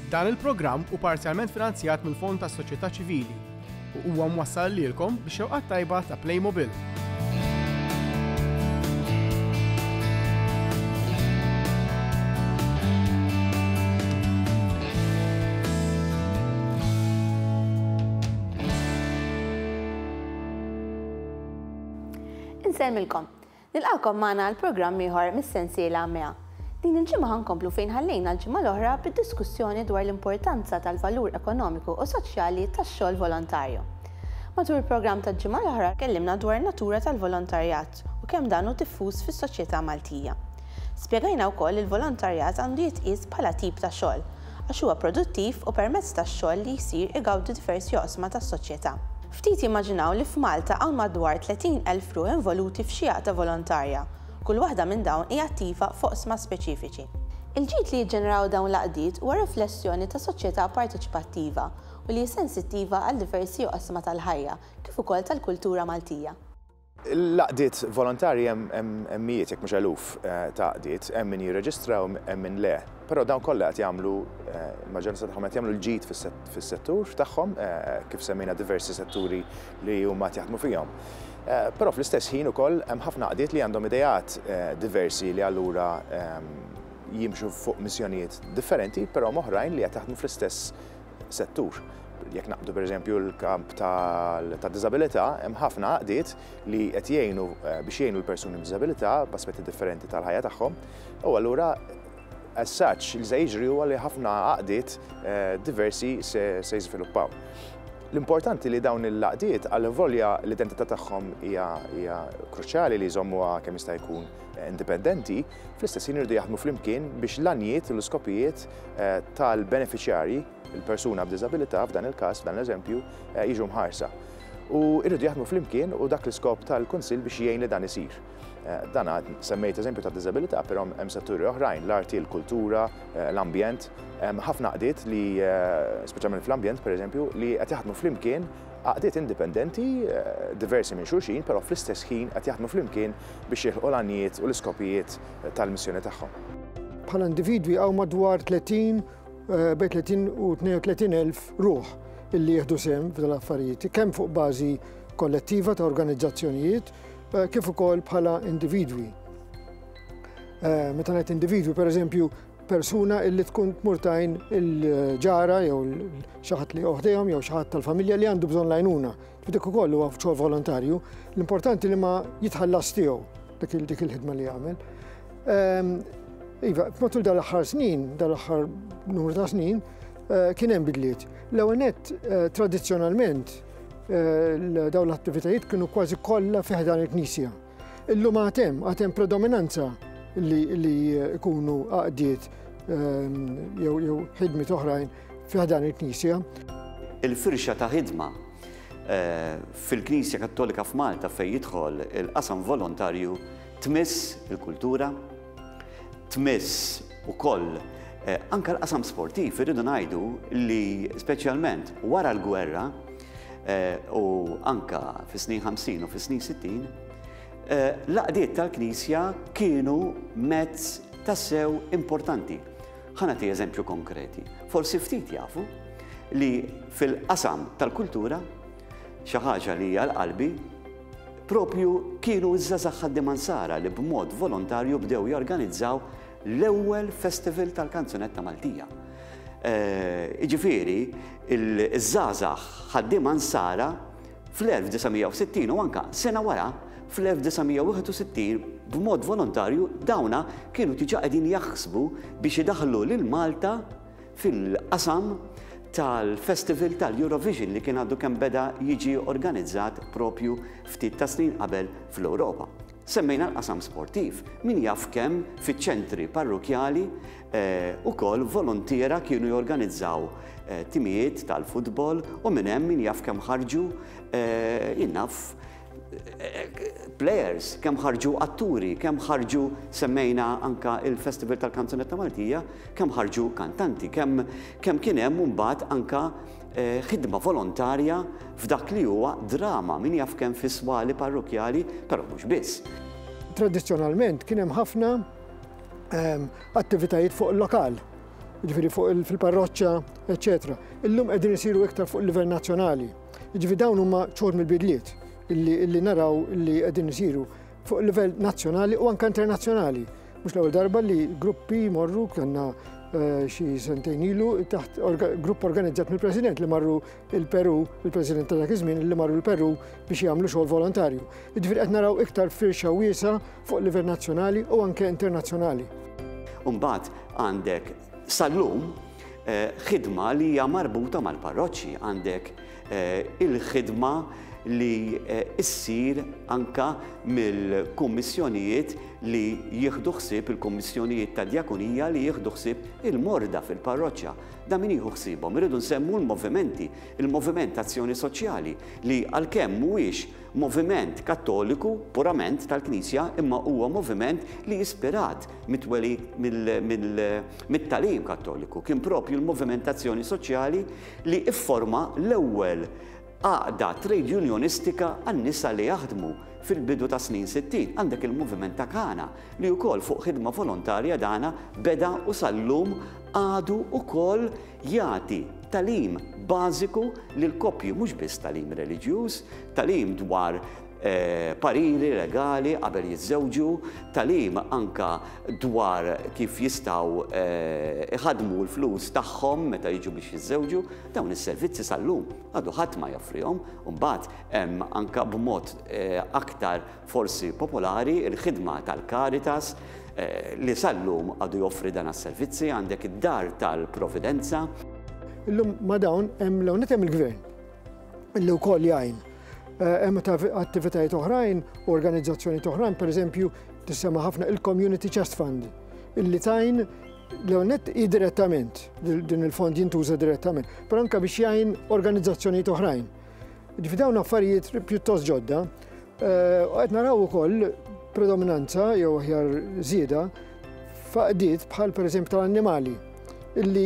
Dan il-programm hu parzjalment finanzjat mill-Fond tas-Soċjetà Ċivili u huwa mwassal lilkom bix-xewqat tajba ta' Playmobil. Insellmilkom. Nilqagħkom magħna għal programm ieħor mis-sensiela Mea. Din il-ġimgħa ħa nkomplu fejn ħallejna l-ġimgħa l-oħra bid-diskussjoni dwar l-importanza tal-valur ekonomiku u soċjali tax-xogħol volontarju. Matul il-programm tal-ġimgħa l-oħra tkellimna dwar in-natura tal-volontarjat u kemm dan hu diffuż fis-soċjetà Maltija. Spjegajna wkoll li l-volontarjat għandu jitqies bħala tip ta' xogħol, għax huwa produttiv u permezz tax-xogħol li jsir igawdu diversi oqsma tas-soċjetà. Ftit jimmaġinaw li f'Malta hawn madwar 30,000 ruħ involuti f'xi għaqda volontarja, kull waħda minn dawn hi attiva f'oqsma speċifiċi. Il-ġid li jiġġeneraw dawn l-għaqdiet huwa riflessjoni ta' soċjetà parteċipattiva u li hi sensittiva għal diversi oqsma tal-ħajja kif ukoll tal-kultura Maltija. L-għaqdiet volontarji hemm mijiet jekk mhux eluf ta' għaqdiet, hemm min jirreġistra u hemm min le. Però dawn kollha qed jagħmlu, il-maġġoranza tagħhom qed jagħmlu l-ġid fis-settur tagħhom, kif semmejna diversi setturi li huma qed jaħdmu fihom. Però fl-istess ħin ukoll hemm ħafna għaqdiet li għandhom ideat diversi li allura jimxu fuq missjonijiet differenti, però hemm oħrajn li qed jaħdmu fl-istess settur. Jekk naqbdu pereżempju l-kamp tad-diżabilità, hemm ħafna għaqdiet li qed jgħinu biex jgħinu l-persuni b'diżabilità b'aspetti differenti tal-ħajja tagħhom. U allura as such li se jiġri huwa li ħafna għaqdiet diversi se jiżviluppaw. L-importanti li dawn il-għaqdiet għalvolja l-identità tagħhom hija kruċjali li jżommuha kemm jista' jkun indipendenti, fl-istess ħin iridu jaħdmu flimkien biex l-għanijiet u l-iskopijiet tal-benefiċjarji, il-persuna b'diżabilità f'dan il-każ, f'dan l-eżempju, jiġu mħarsa. U jridu jaħdmu flimkien u dak l-iskop tal-Kunsill biex jgħin li dan isir. Dan semmejt eżempju ta' diżabilità, però hemm setturi oħrajn, l-arti, il-kultura, l-ambjent. Hemm ħafna għaqdiet li, speċjalment fl-ambjent pereżempju, li qed jaħdmu flimkien, għaqdiet indipendenti, diversi minn xulxin, però fl-istess ħin qed jaħdmu flimkien biex jilħqu l-għanijiet u l-iskopijiet tal-missjoni tagħhom. Bħala individwi hawn madwar 30, bejn 30 u 32 elf ruħ illi jieħdu sehem f'dan l-affarijiet, kemm fuq bażi kollettiva ta' organizzazzjonijiet, kif ukoll bħala individwi. Meta ngħid individwi, pereżempju, persuna illi tkun tmur tajn il-ġara jew xi ħadd li joħdejhom jew xi ħadd tal-familja li għandu bżonn l-għajnuna. Dik ukoll huwa xogħol volontarju, l-importanti li ma jitħallas tiegħu dik il-ħidma li jagħmel. Iva, matul dal-aħħar snin, dal-aħħar numru ta' snin, kien hemm bidliet. L-ewwel nett, tradizzjonalment, dawn l-attivitajiet kienu kważi kollha fi ħdan il-Knisja. Illum għad hemm, għad hemm predominanza li jkunu għaqdiet jew ħidmiet oħrajn fi ħdan il-Knisja. Il-firxa ta' ħidma fil-Knisja Kattolika f'Malta fejn jidħol il-qasam volontarju tmiss il-kultura, tmiss ukoll anke l-qasam sportiv. Irridu ngħidu li speċjalment wara l-gwerra u anke fis-snin 50 u fis-snin 60, l-għaqdiet tal-Knisja kienu mezz tassew importanti. Ħa nagħti eżempju konkreti. Forsi ftit jafu li fil-qasam tal-kultura, xi ħaġa li hija l-qalbi, propju kienu ż-żgħażagħ ħaddiema Nsara li b'mod volontarju bdew jorganizzaw l-ewwel festival tal-kanzunetta Maltija. Jiġifieri, iż-żgħażagħ ħaddiema Nsara fl-1960 u anke sena wara fl-1961 b'mod volontarju dawna kienu diġà qegħdin jaħsbu biex idaħħlu lil Malta fil-qasam tal-Festival tal-Eurovision li kien għadu kemm beda jiġi organizzat propju ftit ta' snin qabel fl-Ewropa. Semmejna l-qasam sportiv, min jaf kemm fiċ-ċentri parrokjali ukoll volontiera kienu jorganizzaw timijiet tal-futbol u minn hemm min jaf kemm ħarġu jien naf players, kemm ħarġu atturi, kemm ħarġu semmejna anka il-Festival tal-Kanzunetta Maltija, kemm ħarġu kantanti, kemm kemm kien hemm imbagħad anka ħidma volontarja f'dak li huwa drama, min jaf kemm fi swali parrokkjali, però mhux biss. Tradizzjonalment kien hemm ħafna attivitajiet fuq il-lokal. jiġifieri fuq fil-parroċċa, eċċetera. Illum qegħdin isiru iktar fuq livell nazzjonali. Jiġifieri dawn huma xogħol mill-bidliet illi naraw li qegħdin isiru fuq livell nazzjonali u anke internazzjonali. Mhux l-ewwel darba li gruppi jmorru kellna eh, xi sentejn ilu taħt grupp organizzat mill-President li marru il-Peru, il-President ta' dak iż-żmien li marru l-Peru biex jagħmlu xogħol volontarju. Jiġifieri qed naraw iktar firxa wiesa fuq livell nazzjonali u anke internazzjonali. Umbagħad għandek sal-lum eh, ħidma li hija marbuta mal-parroċċi, għandek eh, il-ħidma li eh, issir anka mill-kummissjonijiet li jieħdu ħsieb il-kummissjonijiet ta' djakonija li jieħdu ħsieb il-morda fil-parroċċa. Da min jieħu ħsiebhom? Irridu nsemmu l-movimenti, il-moviment Azzjoni Soċjali li għalkemm mhuwiex moviment Kattoliku purament tal-Knisja imma huwa moviment li ispirat mit-twelid mit-tagħlim Kattoliku. Kien propju l-moviment Azzjoni Soċjali li fforma l-ewwel għaqda trade unionistika għan-nisa li jaħdmu fil-bidu tas-snin 60. Għandek il-moviment ta' Kana li wkoll fuq ħidma volontarja dana beda u sal-lum għadu wkoll jagħti tagħlim bażiku lill-koppji, mhux biss tagħlim reliġjuż, tagħlim dwar pariri legali qabel jiżżewġu, tagħlim anka dwar kif jistgħu iħaddmu l-flus tagħhom meta jiġu biex jiżżewġu. Dawn is-servizzi sal-lum għadu ħadd ma joffrihom. Imbagħad hemm anka b'mod aktar forsi popolari l-ħidma tal-Caritas li sal-lum għadu joffri dan għas-servizzi, għandek id-Dar tal-Providenza. Illum ma' dawn hemm l-ewwel nett hemm il-Gvern illi wkoll jgħin. Hemm attivitajiet oħrajn u organizzazzjonijiet oħrajn, pereżempju tissemma ħafna il-Community Chest Fund illi tgħin l-ewwel nett hi direttament, din il-fond jintuża direttament, però anke biex jgħin organizzazzjonijiet oħrajn. Ġifieri dawn affarijiet pjuttost ġodda. Eh, u qed naraw ukoll predominanza jew aħjar żieda f'għaqdiet bħal pereżempju tal-annimali illi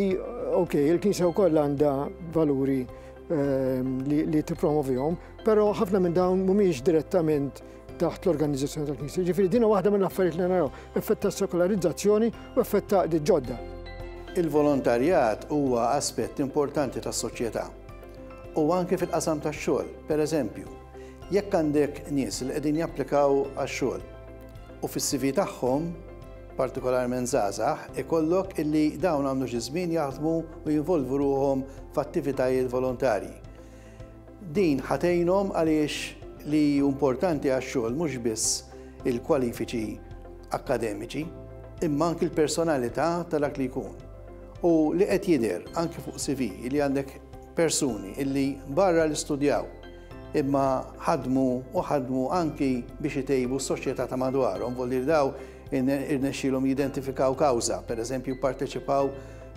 ok, il-Knisja wkoll għandha valuri ehm, li, li tippromovihom, però ħafna minn dawn mhumiex direttament taħt l-organizzazzjoni tal-Knisja. Ġifieri din waħda mill-affarijiet li naraw, effett ta' sekolarizzazzjoni u effett ta' ġodda. Il-volontarjat huwa aspett importanti tas-soċjetà. U anke fil-qasam tax-xogħol. Pereżempju, jekk għandek nies li qegħdin japplikaw għax-xogħol u fis-CV tagħhom, partikolarment żgħażagħ, ikollok illi dawn għamlu xi żmien jaħdmu u jinvolvu ruħhom f'attivitajiet volontarji. Din ħa tgħinhom għaliex li hu importanti għax-xogħol mhux biss il-kwalifiċi akkademiċi, imma anki l-personalità ta' dak li jkun. U li qed jidher anki fuq CV li għandek persuni illi barra li studjaw imma ħadmu u ħadmu anki biex itejbu s-soċjetà ta' madwarhom, vuol dire daw irnexxielhom jidentifikaw kawża, pereżempju pparteċipaw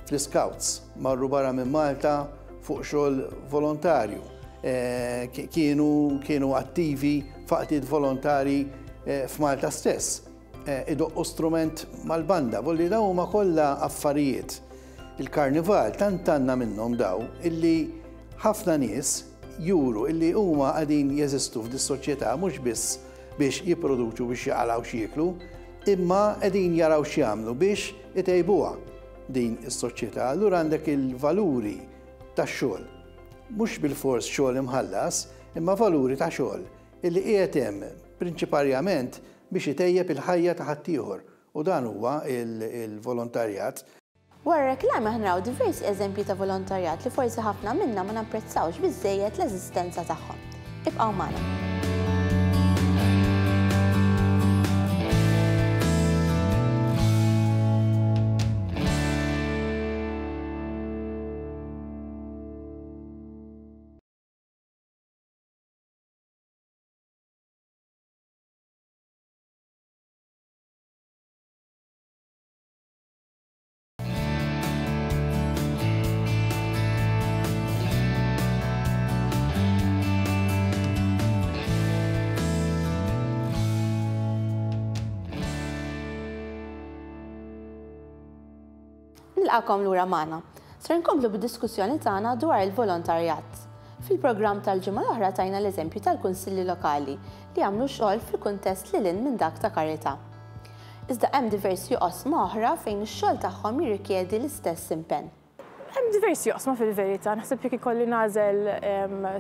fl-iscouts, marru barra minn Malta fuq xogħol volontarju, eh, kienu kienu attivi f'għaqdiet volontari eh, f'Malta stess. Eh, idoqqu strument mal-banda, volli daw huma kollha affarijiet. Il-karnival tant għandna minnhom daw illi ħafna nies juru illi huma qegħdin jeżistu f'dis-soċjetà mhux biss biex jipproduċu biex jaqalgħu x'jieklu, imma qegħdin jaraw x'jagħmlu biex itejbuha din is-soċjetà. Allura għandek il-valuri tax-xogħol. Mhux bilfors xogħol imħallas, imma valuri ta' xogħol illi qiegħed hemm prinċiparjament biex itejjeb il-ħajja ta' ħaddieħor u dan huwa l-volontarjat. Wara reklami aħna naraw diversi eżempji ta' volontarjat li forsi ħafna minna ma napprezzawx biżżejjed l-eżistenza tagħhom. Ibqgħu magħna. Nilqakom lura magħna. Ser nkomplu bid-diskussjoni tagħna dwar il-volontarjat. Fil-programm tal-ġimgħa l-oħra tajna l-eżempju tal-kunsilli lokali li jagħmlu xogħol fil-kuntest lil hinn minn dak ta' karità. Iżda hemm diversi oqsma oħra fejn ix-xogħol tagħhom jirrikjedi l-istess impenn. Hemm diversi oqsma fil-verità, naħseb jekk ikolli nagħżel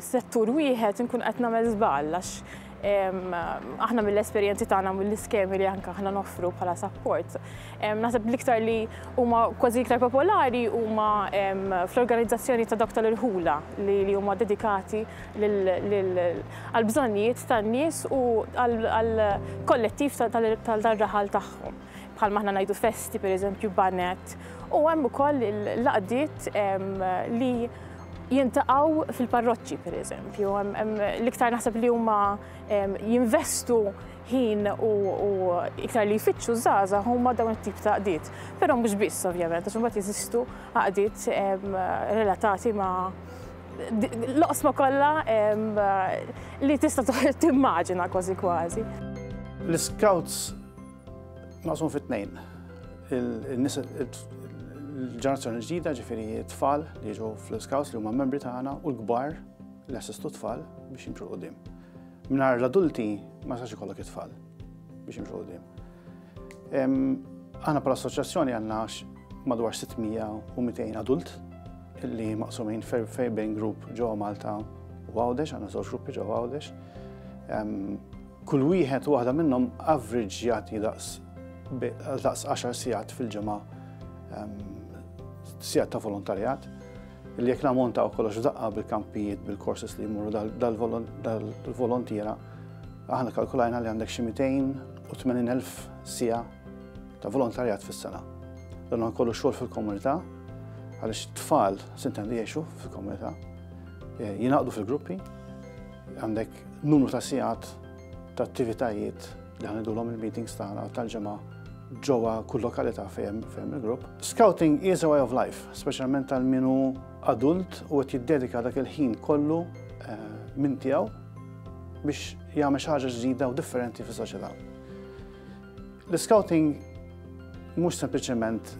settur wieħed inkun qed nagħmel żball għax aħna mill-esperjenzi tagħna mill-iskemi li anke aħna noffru bħala support. Naħseb l-iktar li huma kważi iktar popolari huma fl-organizzazzjoni ta' dawk tal-irħula li huma dedikati għal bżonnijiet tan-nies u għal kollettiv tal-raħal tagħhom. Bħalma aħna ngħidu festi, pereżempju, banet, u hemm ukoll l-għaqdiet li jintaqgħu fil-parroċċi, pereżempju. L-iktar naħseb li huma jinvestu ħin u iktar li jfittxu żgħażagħ huma dawn it-tip ta' għaqdiet. Però mhux biss ovvjament, għax imbagħad jeżistu għaqdiet relatati ma' l-oqsma kollha li tista' timmaġina kważi kważi. L-Scouts maqsum fit tnejn. Il-nies il-ġenerazzjoni ġdida, ġifieri t-tfal li jiġu fl-Scouts li huma membri tagħna u l-kbar li assistu t-tfal biex jimxu quddiem. Mingħajr l-adulti ma jistax ikollok it-tfal biex jimxu quddiem. Aħna bħala assoċjazzjoni għandna madwar 600 u 200 adult li maqsumin fej bejn grupp ġewwa Malta u Għawdex, għandna żewġ gruppi ġewwa Għawdex. Kull wieħed u waħda minnhom average jagħti daqs daqs 10 sigħat fil-ġimgħa sigħat ta' volontarjat li jekk namontaw kollox f'daqqa bil-kampijiet, bil-courses li jmorru dal-volontiera, aħna kalkulajna li għandek xi 280,000 siegħa ta' volontarjat fis-sena. Dan kollu xogħol fil-komunità, għaliex tfal sintendi jgħixu fil-komunità, eh, jingħaqdu fil-gruppi, Għandek numru ta' sigħat ta' attivitajiet li ħanidulhom il-meetings tagħna tal-ġimgħa ġewwa kull lokalità fejn fejn il-grupp. Scouting is a way of life, speċjalment għal min hu adult u qed jiddedika dak il-ħin kollu eh, minn tiegħu biex jagħmel xi ħaġa ġdida u differenti fis-soċjetà. L-scouting mhux sempliċement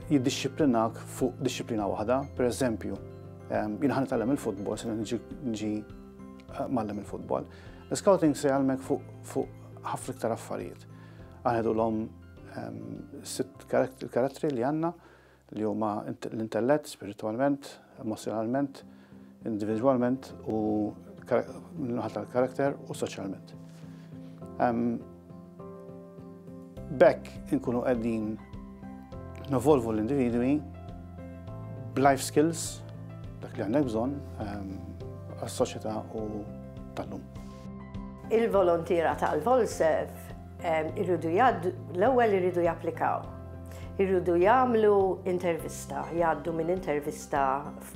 jiddixxiplinak fuq dixxiplina waħda, per eżempju, Jien ħa nitgħallem il-futbol, se niġi eh, mgħallem il-futbol. L-scouting se jgħallmek fuq ħafna iktar affarijiet. Aħna l-om sitt karattri li għandna li huma l-intellett, spiritualment, emozjonalment, individualment u naħa tal-karakter u soċjalment. B'hekk inkunu qegħdin nevolvu l-individwi b'life skills dak li għandek bżonn ehm, għas-soċjetà u tal-lum. Il-volontiera tal-Volsef ehm, irridu jgħaddu, l-ewwel irridu japplikaw. Irridu jagħmlu intervista, jgħaddu minn intervista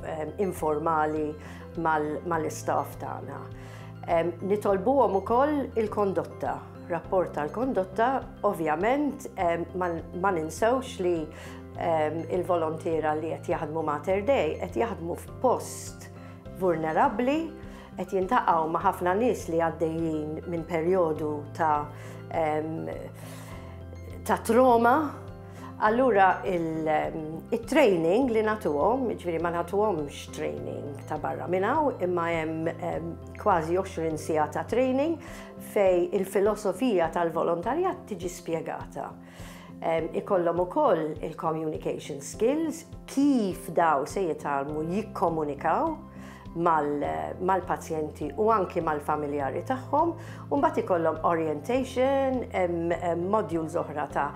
ehm, informali mal-istaff tagħna. Nitolbuhom ukoll il-kondotta, rapport tal-kondotta, ovvjament ma ninsewx li il-volontiera li qed jaħdmu Mater Dei qed jaħdmu f'post vulnerabbli, qed jintaqgħu ma' ħafna nies li għaddejjin minn perjodu ta' ta' trauma. Allura il-training li nagħtuhom, jiġifieri ma nagħtuhomx training ta' barra minn hawn, imma hemm kważi 20 siegħa ta' training fej il-filosofija tal-volontarjat tiġi spjegata. Ikollhom ukoll il-communication skills, kif daw se jitgħallmu jikkomunikaw mal-pazjenti u anki mal-familjari tagħhom, u mbagħad ikollhom orientation, modules oħra ta'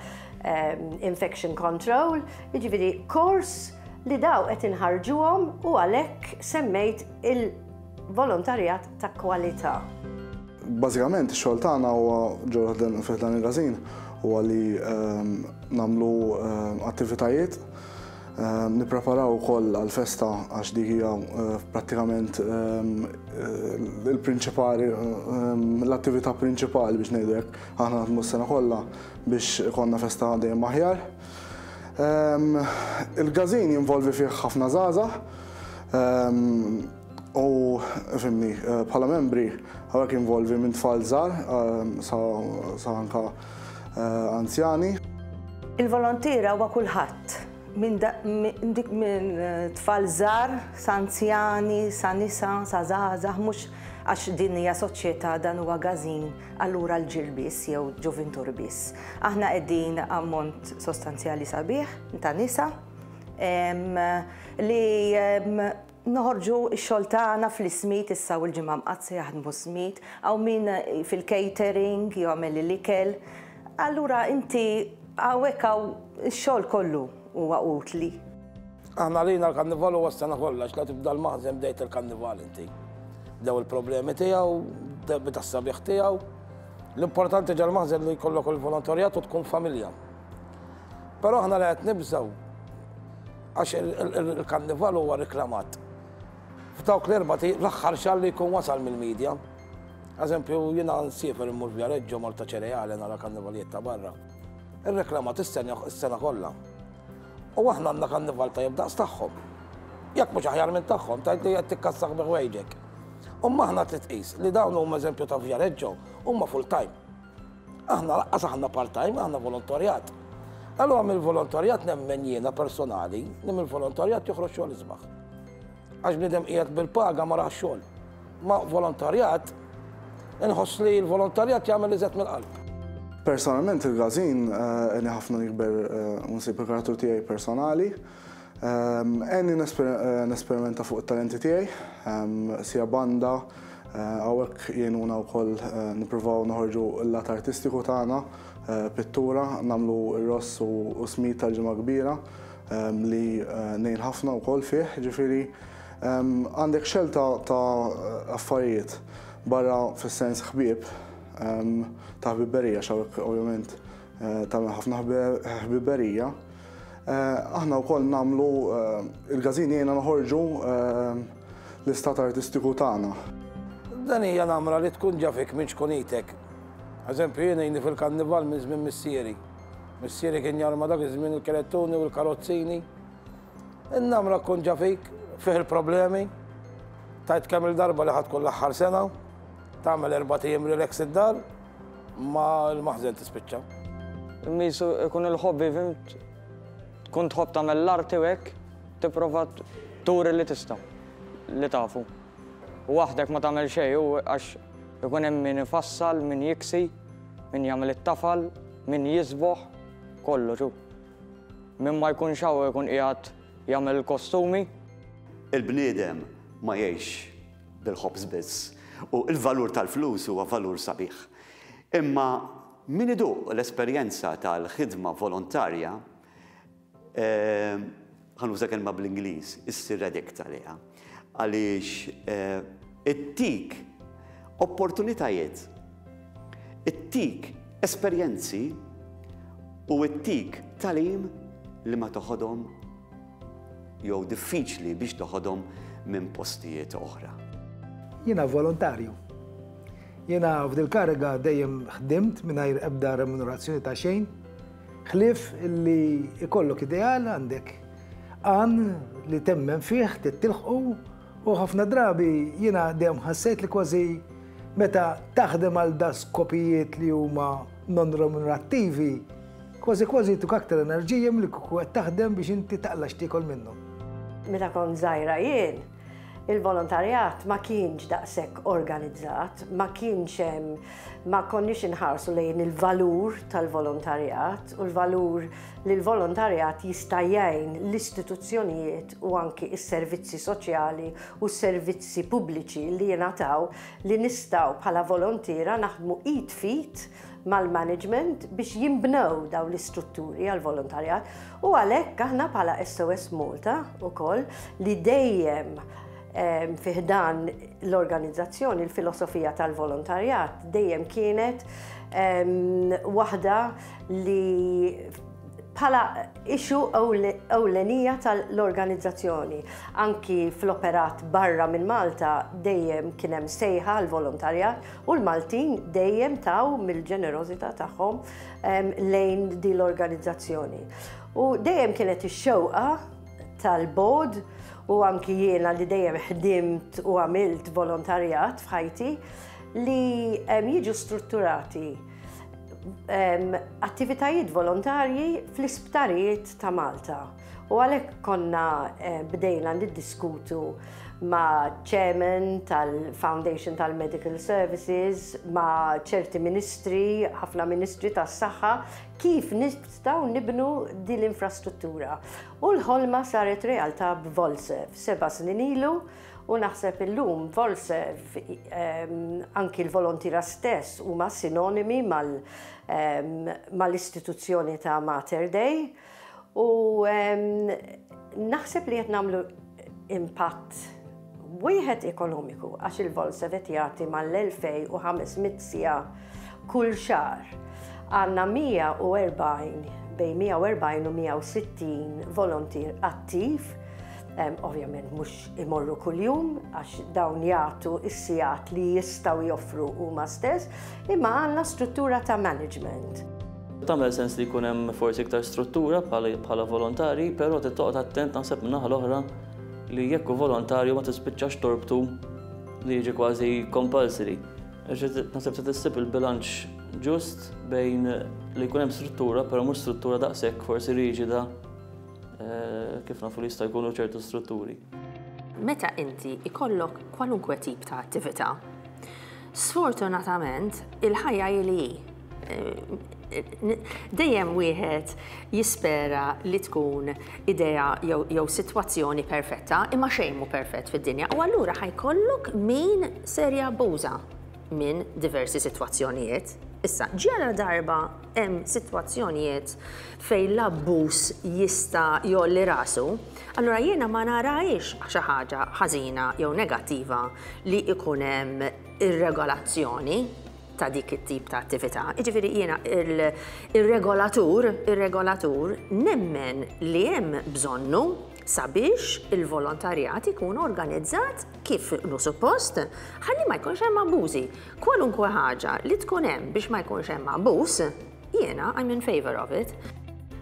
infection control, jiġifieri kors li daw qed inħarġuhom u għalhekk semmejt il-volontarjat ta' kwalità. Bażikament ix-xogħol tagħna huwa ġewwa fih dan il-każin huwa li nagħmlu attivitajiet Nippreparaw ukoll għall-festa għax dik hija prattikament il-prinċipali, l-attività prinċipali biex ngħidu hekk. Aħna naħdmu s-sena kollha biex ikollna festa dejjem aħjar. Il-każin jinvolvi fih ħafna żgħażagħ u fimni bħala membri hawnhekk jinvolvi minn tfal żgħar sa anke anzjani. Il-volontiera huwa kulħadd, minn minn tfal żgħar sa anzjani, sa nisa, sa żgħażagħ, mhux għax din hija soċjetà dan huwa gazin allura l-ġil biss jew ġuvintur biss. Aħna qegħdin ammont sostanzjali sabiħ ta' nisa li noħorġu x-xogħol tagħna fl-ismid issa u l-Ġimgħa Mqaddsa jaħdmu smid, hawn min fil-catering jagħmel l-ikel. Allura inti hawnhekk hawn ix-xogħol kollu huwa utli. Aħna għalina l-karnival huwa s-sena kollha, għax la tibda l-maħżen bdejt il-karnival inti. Bdew il-problemi tiegħu, beda s-sabiħ tiegħu. L-importanti ġal maħżen li jkollok il-volontarjat u tkun familja. Però aħna li qed nibżgħu għax il-karnival huwa riklamat. F'dawk l-erba' l-aħħar xahar li jkun wasal mill-medja. Eżempju, jiena nsiefer immur Viareggio, Malta Ċereale nara karnivalijiet ta' barra. Ir-reklamat is-sena kollha. U aħna għandna karnival tajjeb daqs tagħhom. Jekk mhux aħjar minn tagħhom, tgħid li qed tikkassaħ bi ħwejġek. Imma aħna trid tqis li dawn huma eżempju ta' Viareggio huma full time. Aħna laqqas aħna part time, aħna volontarjat. Allura mill-volontarjat nemmen jiena personali li mill-volontarjat joħroġ xogħol isbaħ. Għax bniedem qiegħed bil-paga ma raħx xogħol. Ma volontarjat, inħoss li l-volontarjat jagħmel iżgħet mill-qalb. Personalment il-gazin eh, għeni ħafna nikber eh, u nsib il-karattru tiegħi personali. Ehm, għeni eh, nesperimenta fuq it-talenti tiegħi, ehm, sija banda, hawnhekk jgħinuna wkoll nippruvaw noħorġu l-lat artistiku tagħna, pittura, nagħmlu r-ross u smid tal-ġimgħa kbira ehm, li ngħin ħafna wkoll fih, ġifieri Għandek xelta ta' affarijiet barra fis-sens ħbieb ta' ħbiberija x'hawnhekk ovvjament tagħmel ħafna ħbiberija. Aħna wkoll nagħmlu il-każin jgħinna noħorġu l-istat artistiku tagħna. Dan hija namra li tkun ġa fik minn ċkunitek. Eżempju jien għini fil-karnival minn żmien missieri. Missieri kien jarma dak iż-żmien il-kerettuni u l-karozzini. In-namra tkun ġa fik, fih il-problemi, tgħid kemm-il darba li ħa tkun l-aħħar sena, tagħmel erbat ijiem relax id-dar, ma l-maħżen tispiċċa. Misu ikun il-hobby, fhimt? Tkun tħobb tagħmel l-arti u hekk, tipprova turi li tista', li tafu. Waħdek ma tagħmel xejn u għax ikun hemm min ifassal, min jiksi, min jagħmel it-tafal, min jiżboħ, kollox hu. Min ma jkunx hawn ikun qiegħed jagħmel il-kostumi. Il-bniedem ma jgħixx bil-ħobż biss u l-valur tal-flus huwa valur sabiħ. Imma min iduq l-esperjenza tal-ħidma volontarja, ħa nuża kelma bl-Ingliż, issir addict għaliha. Għaliex ittik opportunitajiet, ittik esperjenzi u ittik tagħlim li ma toħodhom jew diffiċli biex toħodhom minn postijiet oħra. Jiena volontarju. Jiena f'dil-kariga dejjem ħdimt mingħajr ebda remunerazzjoni ta' xejn, ħlief li jkollok ideal għandek għan li temmen fih, trid tilħqu u ħafna drabi jiena dejjem ħassejt li kważi meta taħdem għal da skopijiet li huma non remunerattivi, kważi kważi jtuk aktar enerġija milli kieku qed taħdem biex inti taqla' x'tiekol minnhom. Meta kont żgħira jien, il-volontarjat ma kienx daqshekk organizzat, ma kienx hemm, ma konniex inħarsu lejn il-valur tal-volontarjat u l-valur li l-volontarjat jista' jgħin l-istituzzjonijiet u anki s-servizzi soċjali u s-servizzi pubbliċi li jingħataw li nistgħu bħala volontiera naħdmu id f'id mal-management biex jinbnew dawn l-istrutturi għall-volontarjat u għalhekk aħna bħala SOS Malta wkoll li dejjem fi ħdan l-organizzazzjoni l-filosofija tal-volontarjat dejjem kienet waħda li bħala issue ewlenija tal-organizzazzjoni. Anki fl-operat barra minn Malta dejjem kien hemm sejħa għall-volontarjat u l-Maltin dejjem taw mill-ġenerożità tagħhom lejn din l-organizzazzjoni. U dejjem kienet ix-xewqa tal-board u anki jiena li dejjem ħdimt u għamilt volontarjat f'ħajti li jiġu strutturati attivitajiet volontarji fl-isptarijiet ta' Malta. U għalhekk konna bdejna niddiskutu ma' chairman tal-Foundation tal-Medical Services, ma' ċerti ministri, ħafna ministri tas-saħħa, kif nistgħu nibnu din l-infrastruttura. U l-ħolma saret realtà b'Volserv seba' snin ilu u naħseb illum Volserv anki l-volontiera stess huma sinonimi mal-istituzzjoni ta' Mater Dei u naħseb li qed nagħmlu impatt wieħed ekonomiku għax il-Volserv qed jagħti mal-2500 siegħa kull xahar. Għandna 140 bejn 140 u 160 volontier attiv. Ovvjament mhux imorru kuljum għax dawn jagħtu s-sigħat li jistgħu joffru huma stess, imma għandna struttura ta' management. Tagħmel sens li jkun hemm forsi iktar struttura bħala volontari, però trid toqgħod attent naħseb min-naħa l-oħra li jekk hu volontarju ma tispiċċax torbtu li jiġi kważi compulsory. Naħseb se tissib il-bilanċ ġust bejn li jkun hemm struttura, però mhux struttura daqshekk forsi riġida kif nafu li jista' jkunu ċertu strutturi. Meta inti ikollok kwalunkwe tip ta' attività, sfortunatament il-ħajja hi li hi. Dejjem wieħed jispera li tkun idea jew sitwazzjoni perfetta, imma xejn mhu perfett fid-dinja u allura ħa jkollok min ser jabbuża minn diversi sitwazzjonijiet. Issa, ġara darba hemm sitwazzjonijiet fejn l-abbuż jista' jgħolli rasu, allura jiena ma narahiex xi ħaġa ħażina jew negattiva li jkun hemm ir-regolazzjoni ta' dik it-tip ta' attività. Jiġifieri jiena ir-regolatur, ir-regolatur nemmen li hemm bżonnu sabiex il-volontarjat ikun organizzat kif inhu suppost ħalli ma jkunx hemm abbużi. Kwalunkwe ħaġa li tkun hemm biex ma jkunx hemm abbuż, jiena I'm in favour of it.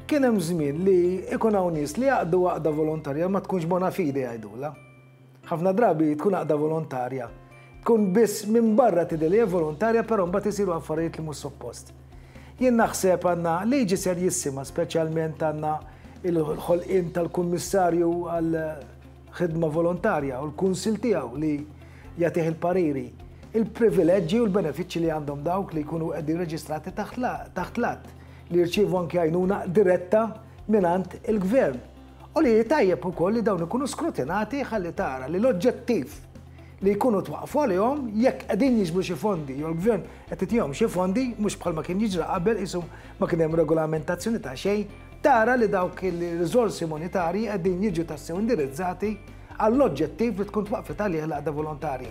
Kien hemm żmien li ikun hawn nies li jgħaqqdu għaqda volontarja ma tkunx bona fide jgħidulha. Ħafna drabi tkun għaqda volontarja. Tkun biss minn barra tidher li hija volontarja però mbagħad isiru affarijiet li mhux suppost. Jien naħseb għandna liġi serjissima speċjalment għandna il-ħolqien tal-Kummissarju għal ħidma volontarja u l-kunsill tiegħu li jagħtih il-pariri, il-privileġġi u l-benefiċċji li għandhom dawk li jkunu qegħdin reġistrati taħt l-att, li jirċievu anki għajnuna diretta mingħand il-gvern. U li tajjeb ukoll li dawn ikunu skrutinati ħalli tara li l-oġġettiv li jkunu twaqqfu għalihom jekk qegħdin jiġbru xi fondi jew l-gvern qed itihom xi fondi mhux bħalma kien jiġri qabel qisu ma kien hemm regolamentazzjoni ta' xejn Tara li dawk il-riżorsi monetarji qegħdin jiġu tassew indirizzati għall-oġġettiv li tkun twaqqfet għalih l-għaqda volontarja.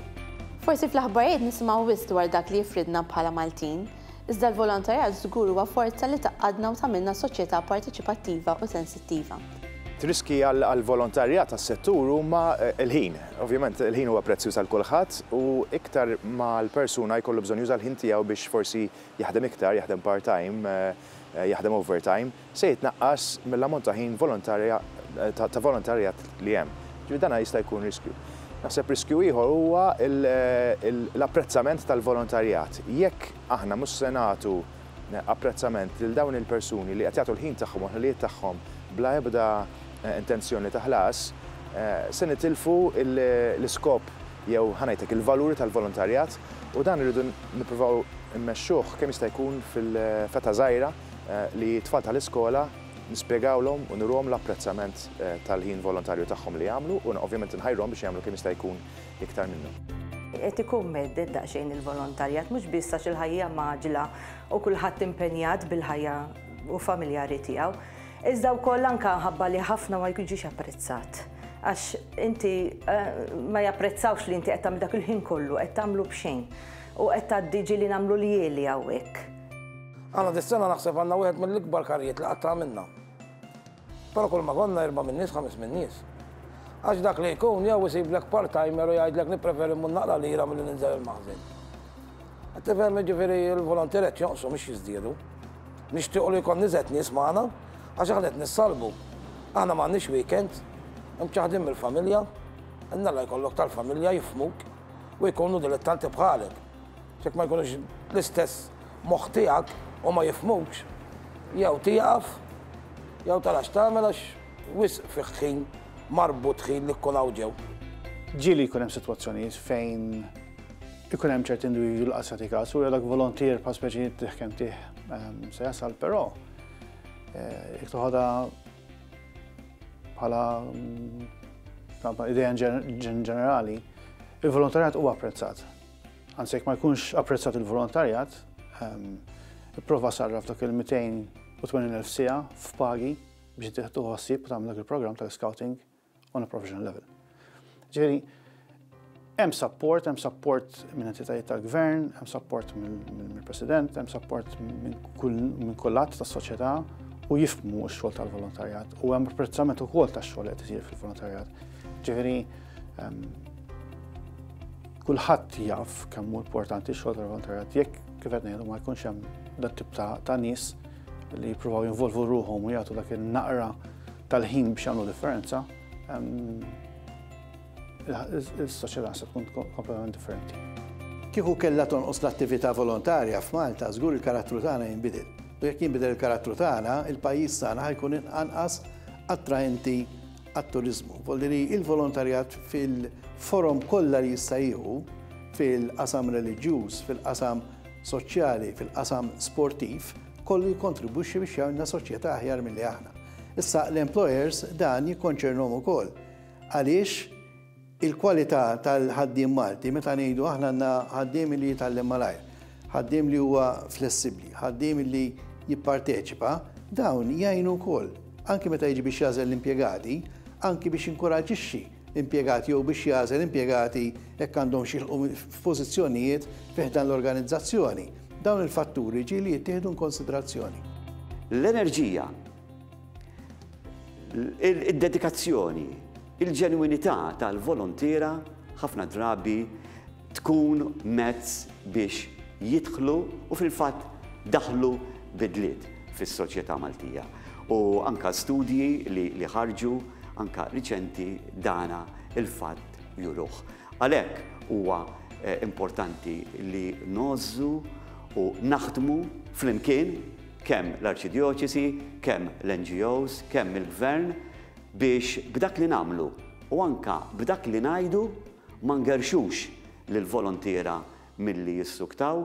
Forsi fl-aħbarijiet nisimgħu wisq dwar dak li jifridna bħala Maltin, iżda l-volontarjat żgur huwa forza li tgħaqqadna u tagħmilna soċjetà parteċipattiva u sensittiva. Riskji għall-volontarjat għas-settur huma l-ħin. Ovvjament il-ħin huwa prezzjuż għal kulħadd u iktar ma l-persuna jkollu bżonn juża l-ħin tiegħu biex forsi jaħdem iktar, jaħdem part-time, jaħdem overtime, se jitnaqqas mill-ammont ta' ħin volontarja ta' volontarjat li hemm. Ġifieri dan jista' jkun riskju. Naħseb riskju ieħor huwa l-apprezzament tal-volontarjat. Jekk aħna mhux se nagħtu apprezzament lil dawn il-persuni li qed jagħtu l-ħin tagħhom u l-ħiliet tagħhom bla ebda intenzjoni ta' ħlas, se nitilfu l-iskop jew ħa ngħid hekk il-valuri tal-volontarjat u dan irridu nippruvaw immexxuh kemm jista' jkun fil-fetà żgħira li t-tfal tal-iskola nispjegawlhom u nuruhom l-apprezzament tal-ħin volontarju tagħhom li jagħmlu u ovvjament inħajruhom biex jagħmlu kemm jista' jkun iktar minnu. Qed ikun mhedded daqsxejn il-volontarjat mhux biss għax il-ħajja mgħaġġla u kulħadd impenjat bil-ħajja u familjari tiegħu, iżda wkoll anke minħabba li ħafna ma jiġix apprezzat. Għax inti ma japprezzawx li inti qed tagħmel dak il-ħin kollu, qed tagħmlu b'xejn. U qed tgħaddi ġieli nagħmlu ljieli hawnhekk. Aħna dis-sena naħseb għandna wieħed mill-ikbar karrijiet li qatt għamilna. Però kull ma konna erba' min-nies, ħames min-nies. Għax dak li jkun jew isiblek part-timer u jgħidlek nippreferi mmur naqra lira milli ninżel il-maħżen. Qed tifhem jiġifieri l-volontier qed jonqsu mhux jiżdiedu. Nixtiequ li jkollna iżgħet nies magħna għax aħna qed nissalbu. Aħna m'għandniex weekends, imċaħħdin mill-familja, Alla jkollok tal-familja jifhmuk. u jkunu dilettanti bħalek. Jekk ma jkunux l-istess moħħ tiegħek u ma jifhmukx, jew tieqaf, jew tara x'tagħmel għax wisq fih ħin marbut ħin li tkun hawn ġew. Ġieli jkun hemm sitwazzjonijiet fejn ikun hemm ċerti individwi li qas jagħti każ u dak volontier bħal speċi tih kemm tih ehm, se jasal, però eh, jekk toħodha bħala mm, idea ġenerali, il-volontarjat huwa apprezzat. Anzi jekk ma jkunx apprezzat il-volontarjat, ehm, ipprova sarraf dak il-280,000 siegħa f'pagi biex tieħdu ħsieb u tagħmel dak il-programm tal-scouting on a professional level. Ġifieri, hemm support, hemm support minn entitajiet tal-gvern, hemm support mill-president, hemm support minn kull att tas-soċjetà u jifhmu x-xogħol tal-volontarjat u hemm apprezzament ukoll tax-xogħol li qed isir fil-volontarjat. Ġifieri, ehm, kulħadd jaf kemm hu importanti x-xogħol tal-volontarjat jekk kif qed ngħidu ma jkunx hemm dat tip ta' nies li jippruvaw jinvolvu ruħhom u jagħtu dak il-naqra tal-ħin biex jagħmlu differenza, is-soċjetà se tkun kompletament differenti. Kieku kellha tonqos l-attività volontarja f'Malta, żgur il-karattru tagħna jinbidel. U jekk jinbidel il-karattru tagħna, il-pajjiż tagħna ħa jkun anqas attraenti għat-turiżmu. Vuol dire il-volontarjat fil-forom kollha li jista' jieħu fil-qasam reliġjuż, fil-qasam soċjali, fil-qasam sportiv, kollu jikkontribwixxi biex jagħmilna soċjetà aħjar milli aħna. Issa l-employers dan jikkonċernhom ukoll. Għaliex il-kwalità tal-ħaddiem Malti, meta ngħidu aħna għandna ħaddiem li jitgħallem malajr, ħaddiem li huwa flessibbli, ħaddiem li jipparteċipa, dawn jgħinu wkoll. Anki meta jiġi biex jagħżel l-impjegati, anki biex jinkoraġixxi impjegati jew biex jagħżel impjegati jekk għandhomx jilħqu f'pożizzjonijiet fi ħdan l-organizzazzjoni. Dawn il-fatturi ġieli jittieħdu inkonsiderazzjoni. L-enerġija, id-dedikazzjoni, il-ġenwinità tal-volontiera ħafna drabi tkun mezz biex jidħlu u fil-fatt daħlu bidliet fis-soċjetà Maltija. U anka studji li, li ħarġu anka riċenti dana il-fatt juruh. Għalhekk huwa eh, importanti li ngħożżu u naħdmu flimkien kemm l-Arċidjoċesi, kemm l-NGOs, kemm il-Gvern biex b'dak li nagħmlu u anka b'dak li ngħidu Ma ngerrxux lill-volontiera milli jissuktaw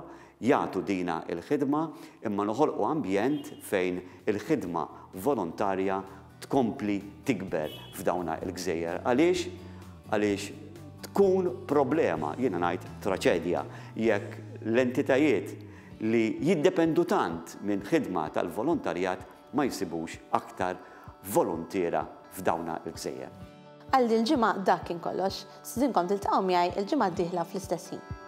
jagħtu dina l-ħidma imma noħolqu ambjent fejn il-ħidma volontarja tkompli tikber f'dawna l-gżejjer. Għaliex? Għaliex tkun problema, jiena ngħid traċedja, jekk l-entitajiet li jiddependu tant minn ħidma tal-volontarjat ma jsibux aktar voluntiera f'dawna l-gżejjer. Għal dil-ġimgħa dak kien kollox. Stidinkom tiltaqgħu miegħi l-ġimgħa d-dieħla fl-istess ħin.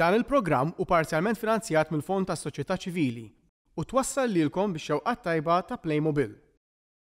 Dan il-programm hu parzjalment finanzjat mill-Fond tas-Soċjetà Ċivili u twassal lilkom bix-xewqat tajba ta' Playmobil.